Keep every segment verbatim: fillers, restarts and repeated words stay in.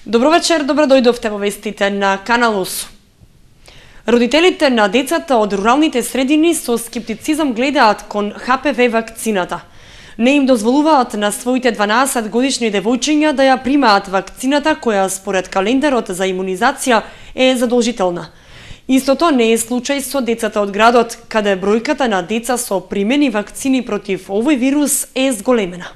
Добро вечер, добро дојдовте во вестите на Канал осум. Родителите на децата од руралните средини со скептицизам гледаат кон Х П В вакцината. Не им дозволуваат на своите дванаесет годишни девојчиња да ја примаат вакцината која според календарот за имунизација е задолжителна. Истото не е случај со децата од градот, каде бројката на деца со примени вакцини против овој вирус е зголемена.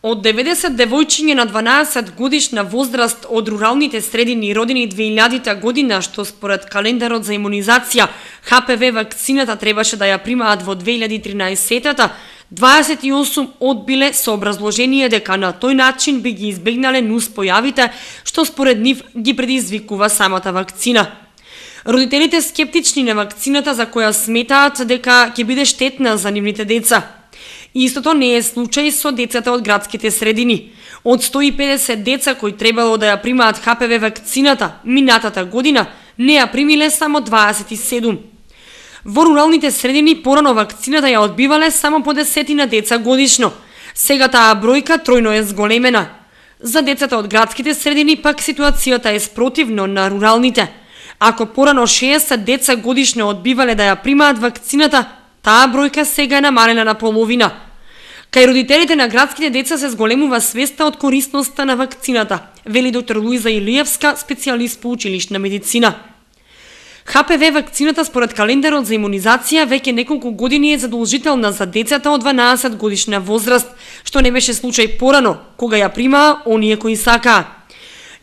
Од деветдесет девојчиња на дванаесет годишна возраст од руралните средини родени две илјадите година, што според календарот за имунизација Х П В вакцината требаше да ја примаат во две илјади и тринаесетта, дваесет и осум одбиле со образложение дека на тој начин би ги избегнале нуспојавите што според нив ги предизвикува самата вакцина. Родителите скептични на вакцината за која сметаат дека ќе биде штетна за нивните деца. Истото не е случај со децата од градските средини. Од сто и педесет деца кои требало да ја примаат Х П В вакцината минатата година, не ја примиле само дваесет и седум. Во руралните средини порано вакцината ја одбивале само по десетина деца годишно. Сега таа бројка тројно е зголемена. За децата од градските средини пак ситуацијата е спротивно на руралните. Ако порано шеесет деца годишно одбивале да ја примаат вакцината, таа бројка сега е намалена на половина. Кај родителите на градските деца се зголемува свеста од корисноста на вакцината, вели доктор Луиза Илиевска, специјалист по училишна медицина. Х П В вакцината според календарот за имунизација веќе неколку години е задолжителна за децата од дванаесет годишна возраст, што не беше случај порано, кога ја примаа оние кои сакаа.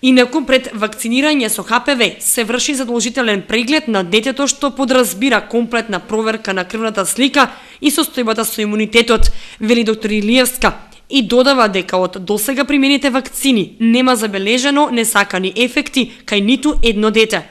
Инаку пред вакцинирање со Х П В се врши задолжителен преглед на детето што подразбира комплетна проверка на крвната слика и состојбата со имунитетот, вели доктор Илиевска, и додава дека од досега примените вакцини нема забележано несакани ефекти кај ниту едно дете.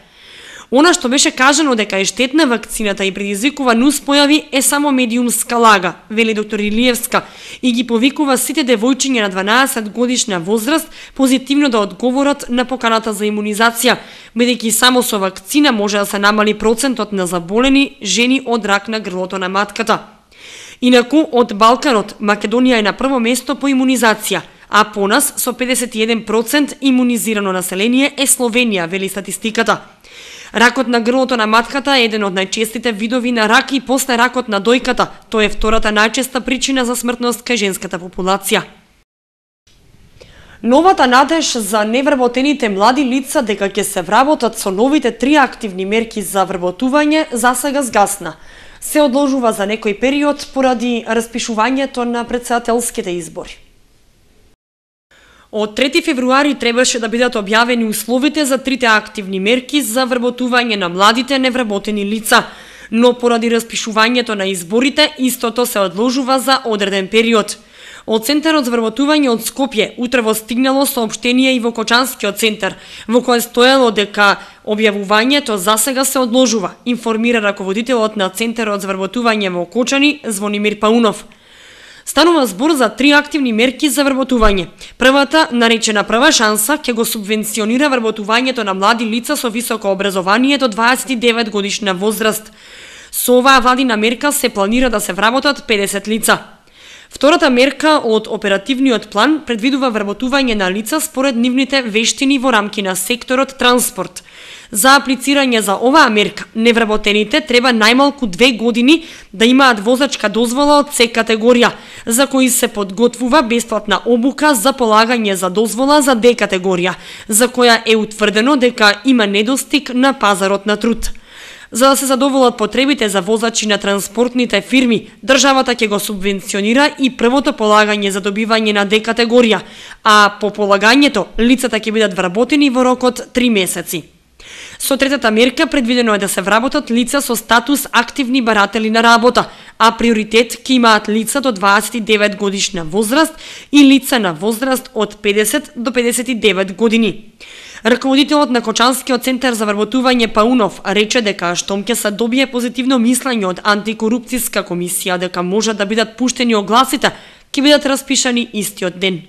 Она што беше кажано дека е штетна вакцината и предизвикува нуспојави е само медиумска лага, вели доктор Илиевска, и ги повикува сите девојчиња на дванаесет годишна возраст позитивно да одговорат на поканата за имунизација, бидејќи само со вакцина може да се намали процентот на заболени жени од рак на грлото на матката. Инаку од Балканот Македонија е на прво место по имунизација, а по нас со педесет и еден проценти имунизирано население е Словенија, вели статистиката. Ракот на грлото на матката е еден од најчестите видови на рак и после ракот на дојката. Тој е втората најчеста причина за смртност кај женската популација. Новата надеж за невработените млади лица дека ќе се вработат со новите три активни мерки за вработување засега згасна. Се одложува за некој период поради распишувањето на претседателските избори. Од трети февруари требаше да бидат објавени условите за трите активни мерки за вработување на младите невработени лица, но поради распишувањето на изборите истото се одложува за одреден период. Од Центарот за вработување од Скопје утрево стигнало соопштение и во Кочанскиот центар, во кое стоело дека објавувањето засега се одложува, информира раководителот на Центарот за вработување во Кочани Звонимир Паунов. Станува збор за три активни мерки за вработување. Првата, наречена прва шанса, ќе го субвенционира вработувањето на млади лица со високо образование до дваесет и девет годишна возраст. Со оваа владина мерка се планира да се вработат педесет лица. Втората мерка од оперативниот план предвидува вработување на лица според нивните вештини во рамки на секторот транспорт. За аплицирање за оваа мерка, невработените треба најмалку две години да имаат возачка дозвола од С категорија, за кои се подготвува бесплатна обука за полагање за дозвола за Д категорија, за која е утврдено дека има недостиг на пазарот на труд. За да се задоволат потребите за возачи на транспортните фирми, државата ќе го субвенционира и првото полагање за добивање на Д категорија, а по полагањето лицата ќе бидат вработени во рокот три месеци. Со третата мерка предвидено е да се вработат лица со статус активни баратели на работа, а приоритет ќе имаат лица до дваесет и девет годишна возраст и лица на возраст од педесет до педесет и девет години. Раководителот на Кочанскиот центар за вработување Паунов рече дека штом ќе се добие позитивно мислење од антикорупцијска комисија дека може да бидат пуштени огласите, ќе бидат распишани истиот ден.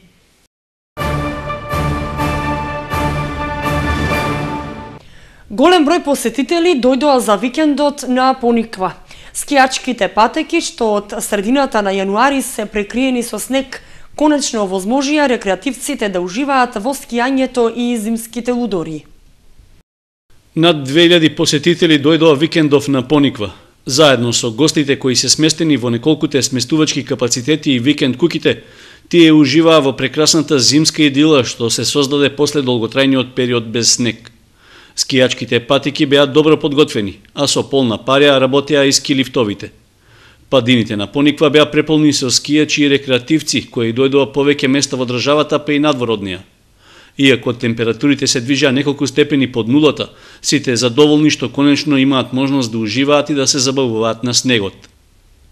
Голем број посетители дојдоа за викендот на Пониква. Скијачките патеки што од средината на јануари се прекриени со снег конечно овозможија рекреативците да уживаат во скијањето и зимските лудори. Над две илјади посетители дојдоа викендов на Пониква. Заедно со гостите кои се сместени во неколкуте сместувачки капацитети и викенд куките, тие уживаа во прекрасната зимска идила што се создаде после долготрајниот период без снег. Скијачките патики беа добро подготвени, а со полна парја работеа и ски лифтовите. Падините на Пониква беа преполни со скијачи и рекреативци кои дојдоа повеќе места во државата, па и надвор од неа. Иако температурите се движеа неколку степени под нулата, сите задоволни што конечно имаат можност да уживаат и да се забавуваат на снегот.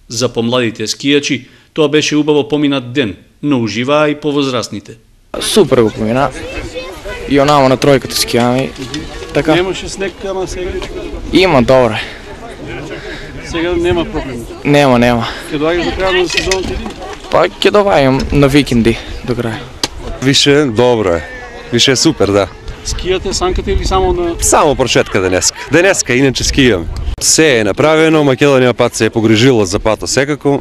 За помладите скијачи тоа беше убаво поминат ден, но уживаа и повозрастните. Супер го помина. И онамо на тројката скијаме. Така. Немаше снег, ама сега? Има, добре. Сега нема проблем. Нема, нема. Ќе доаѓаш до крајот на сезоната или? Па ќе доаѓам на викенди до крај. Више добро е. Више е супер, да. Скијате, санкате или само на... Само почетка денеска. Денеска, иначе скијам. Се е направено, Македонија пат се е погрижила за пато секако.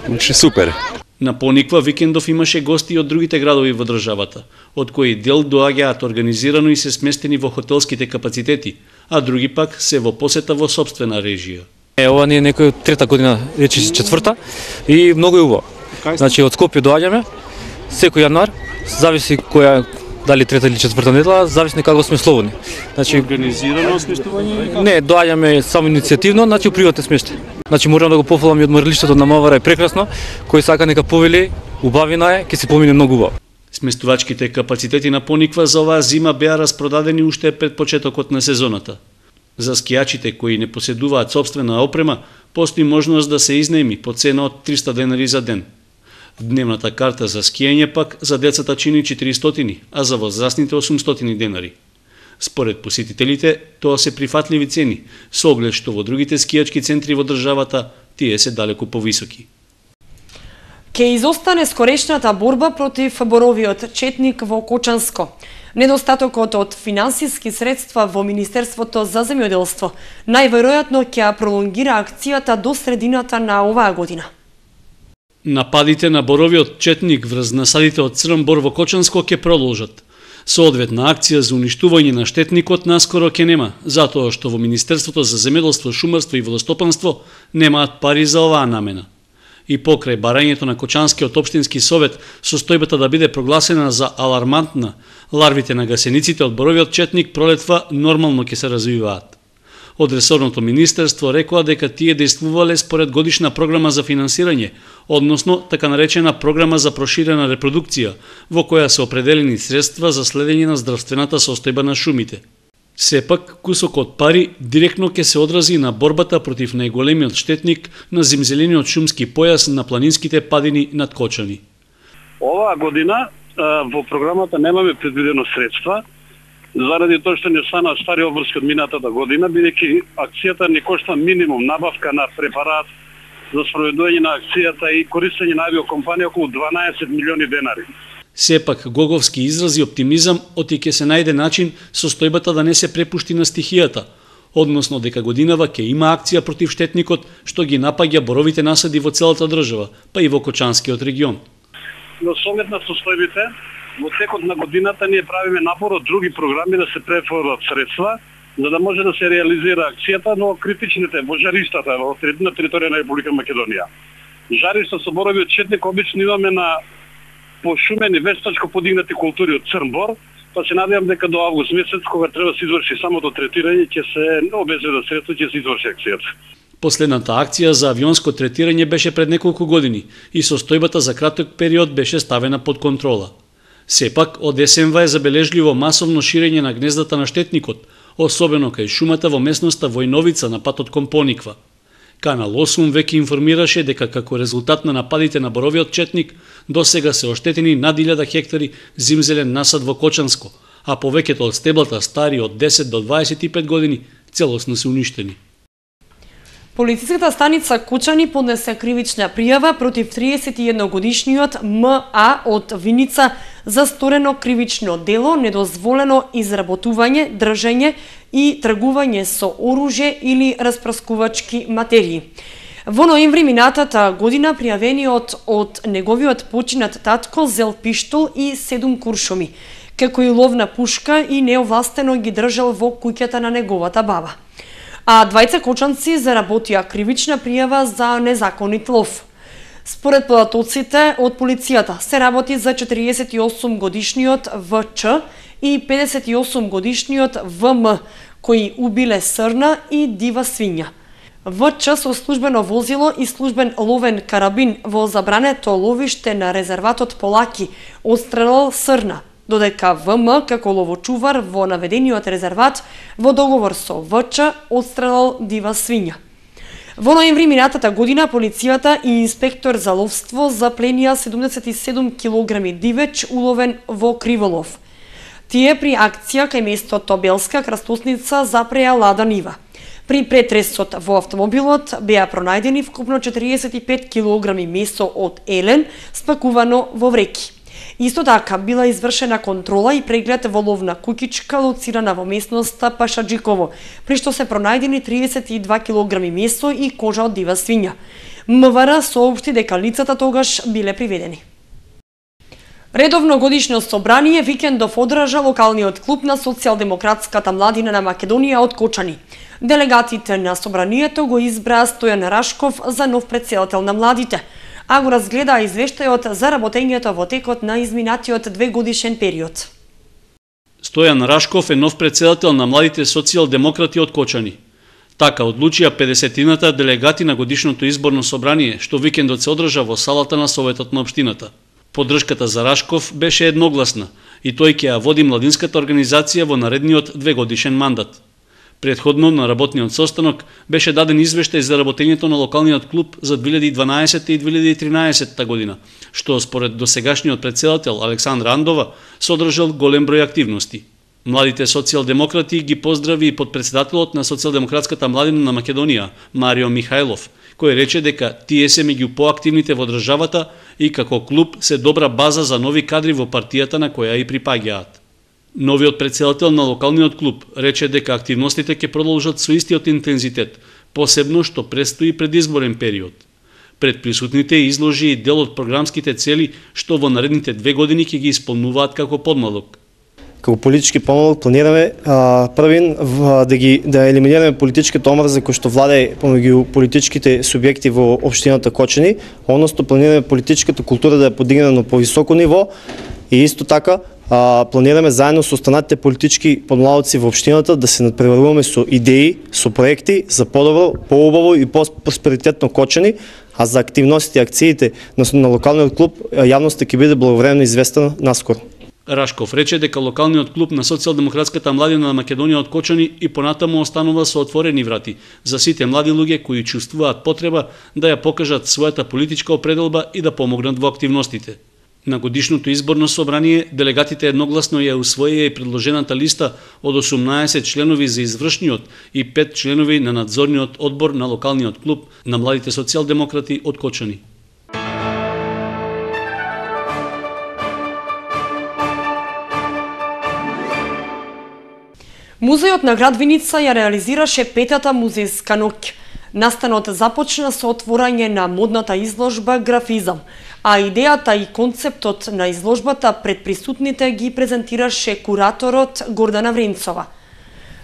Значи супер. На Пониква викендов имаше гости од другите градови во државата, од кои дел доаѓаат организирано и се сместени во хотелските капацитети, а други пак се во посета во собствена режија. Е, ова не е некој трета година, речи четврта и многу е убаво. Значи од Скопје доаѓаме секој јануар, зависи која дали трета или четврта недела, зависи како сме слободни. Значи организирано сместување? Не, доаѓаме само иницијативно, значи приватен смештај. Значи морам да го пофалам и одморилиштето на Мавара е прекрасно, кој сака нека повели, убавина е, ќе се помине многу убаво. Сместувачките капацитети на Пониква за оваа зима беа распродадени уште пред почетокот на сезоната. За скијачите кои не поседуваат собствена опрема, постои можност да се изнеми по цена од триста денари за ден. Дневната карта за скијање пак за децата чини четиристотини, а за возрастните осумстотини денари. Според посетителите, тоа се прифатливи цени, со оглед што во другите скијачки центри во државата тие се далеку повисоки. Ке изостане скорешната борба против боровиот четник во Кочанско. Недостатокот од финансиски средства во Министерството за земјоделство најверојатно ќе пролонгира акцијата до средината на оваа година. Нападите на боровиот четник врз насадите од црн бор во Кочанско ќе продолжат. Соодветна акција за уништување на штетникот наскоро ќе нема, затоа што во Министерството за земјоделство, шумарство и водостопанство немаат пари за оваа намена. И покрај барањето на Кочанскиот општински совет состојбата да биде прогласена за алармантна, ларвите на гасениците од боровиот четник пролетва нормално ќе се развиваат. Од ресорното министерство рекоа дека тие действувале според годишна програма за финансирање, односно така наречена програма за проширена репродукција, во која се определени средства за следење на здравствената состојба на шумите. Сепак, кусокот пари директно ќе се одрази на борбата против најголемиот штетник на зимзелениот шумски појас на планинските падини над Кочани. Оваа година во програмата немаме предвидено средства, заради тоа што не стана стари обврски од минатата година, бидејќи акцијата ни кошта минимум набавка на препарат за спроведување на акцијата и користење на авиокомпанија околу дванаесет милиони денари. Сепак, Гоговски изрази оптимизам оти ќе се најде начин состојбата да не се препушти на стихијата, односно дека годинава ќе има акција против штетникот што ги напаѓа боровите насади во целата држава, па и во Кочанскиот регион. Но со оглед на состојбите, во текот на годината ние правиме напор од други програми да се префрлат средства, за да може да се реализира акцијата, но критичните во жариштата во на територија на Република Македонија. Жаришта со боровиот четник обично имаме на пошумени вештачко подигнати култури од црн бор, па се надевам дека до август месец, кога треба да се изврши самото третирање, ќе се обезбедат средства, ќе се изврши акцијата. Последната акција за авионско третирање беше пред неколку години и состојбата за краток период беше ставена под контрола. Сепак, од СМВ е забележливо масовно ширење на гнездата на штетникот, особено кај шумата во местноста Војновица на патот кон Пониква. Канал осум веќе информираше дека како резултат на нападите на боровиот четник, досега се оштетени над илјада хектари зимзелен насад во Кочанско, а повеќето од стеблата стари од десет до дваесет и пет години целосно се уништени. Полициската станица Кучани поднесе кривична пријава против триесет и едногодишниот М А од Виница за сторено кривично дело, недозволено изработување, држење и тргување со оружје или распраскувачки материи. Во ноември минатата година пријавениот од неговиот починат татко зел пиштол и седум куршуми, како и ловна пушка и неовластено ги држал во куќата на неговата баба. А двајца кочанци заработија кривична пријава за незаконит лов. Според податоците од полицијата се работи за четириесет и осум годишниот В Ч и педесет и осум годишниот В М, кои убиле срна и дива свиња. В Ч со службено возило и службен ловен карабин во забрането ловиште на резерватот Полаки отстрелал срна, додека В М како ловочувар во наведениот резерват во договор со В Ч отстрелал дива свиња. Во ноември минатата година полицијата и инспектор за ловство запленија седумдесет и седум килограми дивеч уловен во криволов. Тие при акција кај местото Белска крстосница запреа лада нива. При претресот во автомобилот беа пронајдени вкупно четириесет и пет килограми месо од елен спакувано во вреки. Исто така била извршена контрола и преглед во ловна куќичка лоцирана во местноста Пашаджиково, при што се пронајдени триесет и два килограми месо и кожа од дива свиња. МВР соопшти дека лицата тогаш биле приведени. Редовно годишно собрание викендов одржа локалниот клуб на социјалдемократската младина на Македонија од Кочани. Делегатите на собранието го избраа Стојан Рашков за нов претседател на младите, а го разгледа извештајот за работењето во текот на изминатиот двегодишен период. Стојан Рашков е нов претседател на младите социјалдемократи од Кочани. Така одлучија педесетината делегати на годишното изборно собрание, што викендот се одржа во салата на Советот на општината. Поддршката за Рашков беше едногласна и тој ќе ја води младинската организација во наредниот двегодишен мандат. Предходно на работниот состанок беше даден извештај за работењето на локалниот клуб за две илјади и дванаесетта и две илјади и тринаесетта година, што според досегашниот претседател Александра Андова содржал голем број активности. Младите социјалдемократи ги поздрави и подпредседателот на Социјалдемократската младина на Македонија, Марио Михајлов, кој рече дека тие се меѓу поактивните во државата и како клуб се добра база за нови кадри во партијата на која и припаѓаат. Новиот претседател на локалниот клуб рече дека активностите ќе продолжат со истиот интензитет, посебно што престои предизборен период. Пред присутните изложи и дел од програмските цели што во наредните две години ќе ги исполнуваат како подмалок. Како политички помалок планираме а, првин в, да ги да елиминираме политичката омраза која што владее помеѓу политичките субјекти во општината Кочани, односно планираме политичката култура да ја подигнеме на повисоко ниво и исто така а, планираме заедно со останатите политички подмладоци во општината да се надпреваруваме со идеи, со проекти за подобро, поубаво и по-просперитетно Кочани, а за активностите и акциите на, на локалниот клуб јавноста ќе биде благовремено известена наскоро. Рашков рече дека локалниот клуб на Социјалдемократската младина на Македонија од Кочани и понатаму останува со отворени врати за сите млади луѓе кои чувствуваат потреба да ја покажат својата политичка определба и да помогнат во активностите. На годишното изборно собрание делегатите едногласно ја усвоија и предложената листа од осумнаесет членови за извршниот и пет членови на надзорниот одбор на локалниот клуб на младите социјалдемократи од Кочани. Музејот на град Виница ја реализираше петата музејска ноќ. Настанот започна со отворање на модната изложба Графизам, а идејата и концептот на изложбата пред присутните ги презентираше кураторот Гордана Вренцова.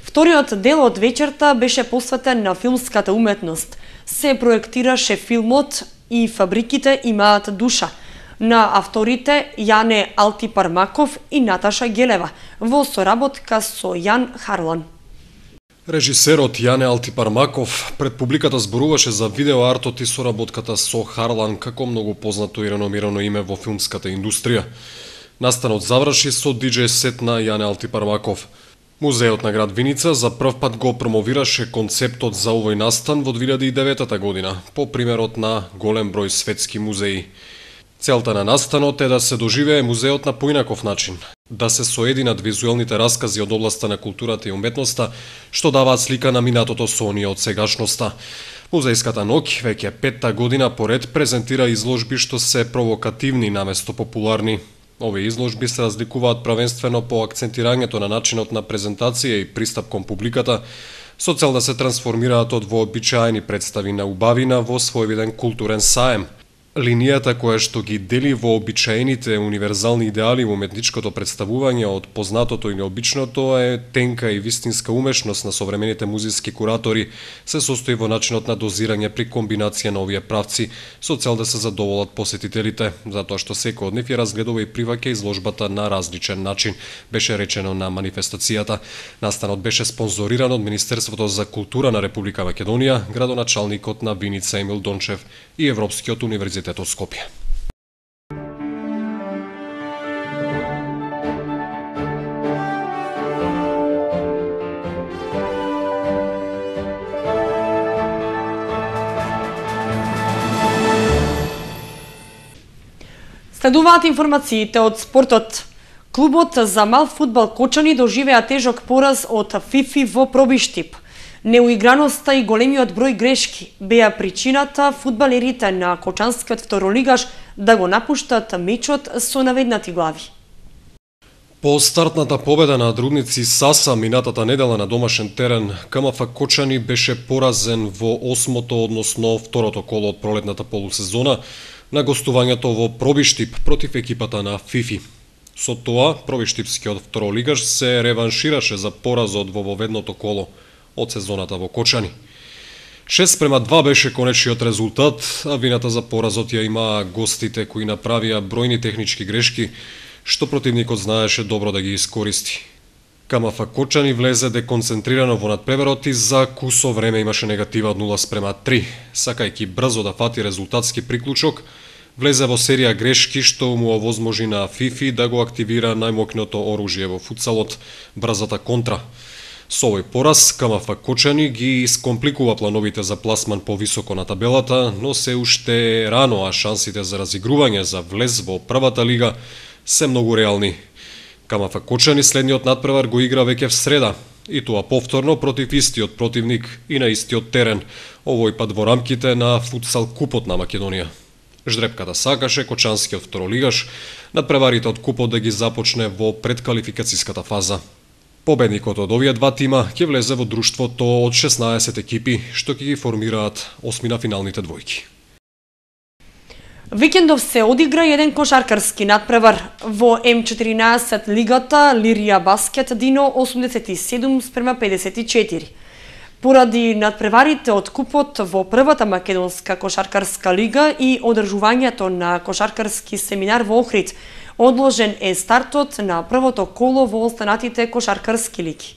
Вториот дел од вечерта беше посветен на филмската уметност. Се проектираше филмот И фабриките имаат душа, на авторите Јане Алтипармаков и Наташа Гелева, во соработка со Јан Харлан. Режисерот Јане Алтипармаков пред публиката зборуваше за видеоартот и соработката со Харлан како многу познато и реномирано име во филмската индустрија. Настанот заврши со диџеј сет на Јане Алтипармаков. Музеот на град Виница за прв пат го промовираше концептот за овој настан во две илјади и девета година, по примерот на голем број светски музеи. Целта на настанот е да се доживее музеот на поинаков начин, да се соединат визуелните раскази од областа на културата и уметноста, што даваат слика на минатото со оние од сегашноста. Музејската ноќ веќе петта година поред презентира изложби што се провокативни наместо популарни. Овие изложби се разликуваат правенствено по акцентирањето на начинот на презентација и пристап кон публиката, со цел да се трансформираат од вообичаени представи на убавина во своевиден културен саем. Линијата која што ги дели вообичаените универзални идеали во уметничкото представување од познатото и необичното е тенка и вистинска умешност на современите музички куратори, се состои во начинот на дозирање при комбинација на овие правци со цел да се задоволат посетителите, затоа што секој од нив ја разгледува и приваќа изложбата на различен начин, беше речено на манифестацијата. Настанот беше спонзориран од Министерството за култура на Република Македонија, градоначалникот на Виница Емил Дончев и Европскиот универзитет од Скопје. Следуваат информациите од спортот. Клубот за мал фудбал Кочани доживеа тежок пораз од ФИФИ во Пробиштип. Неуиграноста и големиот број грешки беа причината фудбалерите на Кочанскиот второлигаш да го напуштат мечот со наведнати глави. По стартната победа на Друдници Саса минатата недела на домашен терен, КМФ Кочани беше поразен во осмото, односно второто коло од пролетната полусезона на гостувањето во Пробиштип против екипата на ФИФИ. Со тоа, Пробиштипскиот второлигаш се реваншираше за поразот во воведното коло од сезоната во Кочани. шест према два беше конечниот резултат, а вината за поразот ја имаа гостите кои направија бројни технички грешки, што противникот знаеше добро да ги искористи. КМФ Кочани влезе деконцентрирано во надпреварот и за кусо време имаше негатива од нула спрема три. Сакајќи брзо да фати резултатски приклучок, влезе во серија грешки што му овозможи на ФИФИ да го активира најмокното оружје во футсалот, брзата контра. Со овој пораз, КМФ Кочани ги искомпликува плановите за пласман повисоко на табелата, но се уште рано, а шансите за разигрување за влез во првата лига се многу реални. КМФ Кочани следниот надпревар го игра веќе в среда, и тоа повторно против истиот противник и на истиот терен, овој пат во рамките на футсал купот на Македонија. Ждрепката сакаше Кочанскиот второлигаш надпреварите од купот да ги започне во предквалификацијската фаза. Победникот од овие два тима ќе влезе во друштвото од шеснаесет екипи, што ќе ги формираат осми на финалните двојки. Викендов се одигра еден кошаркарски надпревар во Ем четиринаесет лигата Лирија Баскет Дино осумдесет и седум спрема педесет и четири. Поради надпреварите од купот во првата македонска кошаркарска лига и одржувањето на кошаркарски семинар во Охрид, одложен е стартот на првото коло во останатите кошаркарски лиги.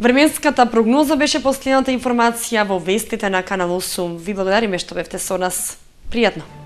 Временската прогноза беше последната информација во вестите на Канал осум. Ви благодариме што бевте со нас. Пријатно!